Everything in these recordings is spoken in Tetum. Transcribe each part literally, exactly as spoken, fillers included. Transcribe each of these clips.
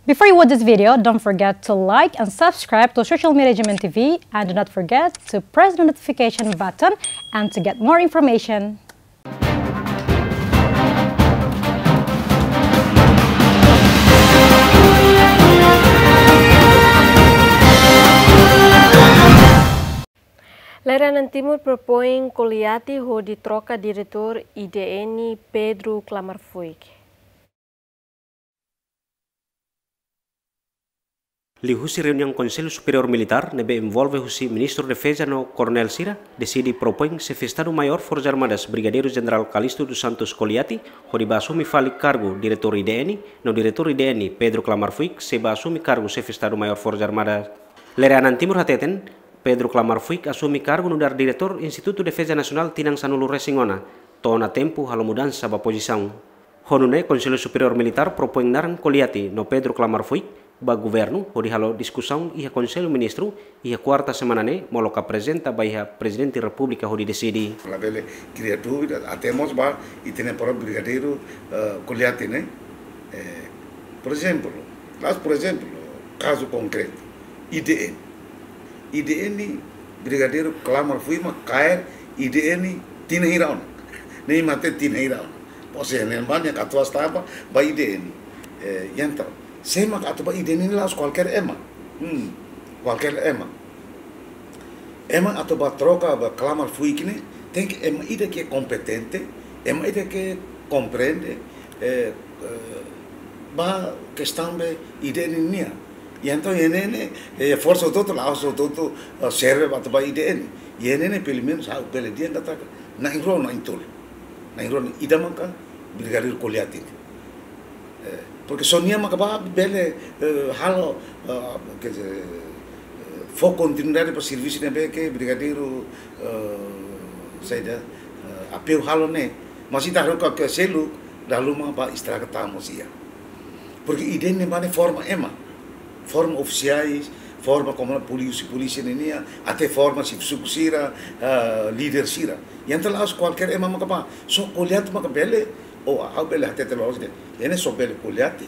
Before you watch this video, don't forget to like and subscribe to Social Media G M N T V, and do not forget to press the notification button and to get more information. Lere Anan Timur propoin Koliati hodi troka diretór I D N Pedro Klamar Fuik. Liuhusi reuniaun Konsellu Superiór Militár ne'ebé envolve husi Ministru Defeza no Koronél sira, deside propoin Xefe Estadu Maiór Forsas Armadas Brigadeiru Jenerál Calixto dos Santos Koliati hodi bá asume fali kargu diretór I D N, no diretór I D N Pedro Klamar Fuik sei bá asume kargu Xefe Estadu Maiór Forsas Armadas. Lere Anan Timur hateten, Pedro Klamar Fuik asume kargu nu'udar diretór Institutu Defeza Nasionál tinan sanulu-resin-ona, to'o ona tempu halo mudansa ba pozisaun. Ho nune'e Konsellu Superiór Militár propoin naran Koliati no Pedro Klamar Fuik ba governu hodi halo diskusaun iha Konsellu Ministru iha kuarta semana ne'e, molok aprezenta ba iha Prezidente Repúblika hodi deside. Labele kria dúvida, até mós ba ita-nia própriu Brigadeiru, eh, Koliati ne'e. Eh, por ezemplu, la'ós por ezemplu, kazu konkretu, I D N. I D N, Brigadeiru Klamar Fuik mak kaer I D N tinan hira ona. Ne'e mak tinan hira ona. Pose ne'e ba nia katuas taba ba I D N. Eh, entaun, sé mak atu ba I D N ne'e la'ós kualkér ema. Hmm, kualkér ema. Ema atu ba troka ba Klamar Fuik ne'e, tenke ema ida ke kompetente, ema ida ke komprende, eh, eh, ba kestaun be I D N nian. I entaun, I D N ne'e, eh, forsa hotu-hotu, la'ós hotu-hotu, eh, serve ba atu ba I D N. I D N ne'e, pelumenus, ha'u bele dehan katak na'in-rua, na'in-tolu. Na'in-rua, ida maka Brigadeiru Koliati ne'e. Eh, porque só nia maka ba bele, eh, halo, eh, quer dizer, eh, fó kontinuidade ba servisu ne'ebé ke Brigadeiru, eh, saida, eh, Apeu halo ne'e. Mas ita haree katak seluk, dala ruma ba estraga tan mós iha. Porque I D N ne'e ba ne'e forma ema, forma ofisiais, forma komu polísia, polísia ninian, até forma xefe suku sira, eh, líder sira. I entaun la'ós kualkér ema maka ba, só Koliati maka bele, ou ha'u bele hatete loos de'it, I D N ne'e só bele Koliati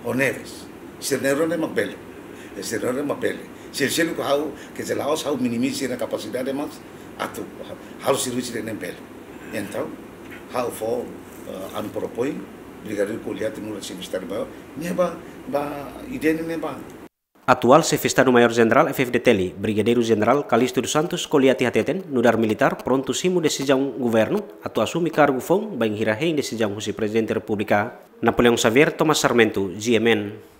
ho Neves. Sira na'in-rua ne'e mak bele. Sira na'in-rua ne'e mak bele. Sira seluk ha'u, quer dizer, la'ós ha'u minimiza sira-nia kapasidade, mas atu halo servisu I D N ne'e bele. Entaun, ha'u fó, eh, ami propoin Brigadeiru Koliati nu'udar Xefe Estadu Maiór, ne'e ba, ba I D N ne'e ba. Atuál Xefe Estadu Maiór Jenerál F F D T L, Brigadeiru Jenerál Calixto dos Santos Koliati hateten, nu'udar militár prontu simu desizaun governu atu asume kargu foun bainhira hein desizaun husi Prezidente Repúblika. Napoleão Xavier, Thomas Sarmento, G M N.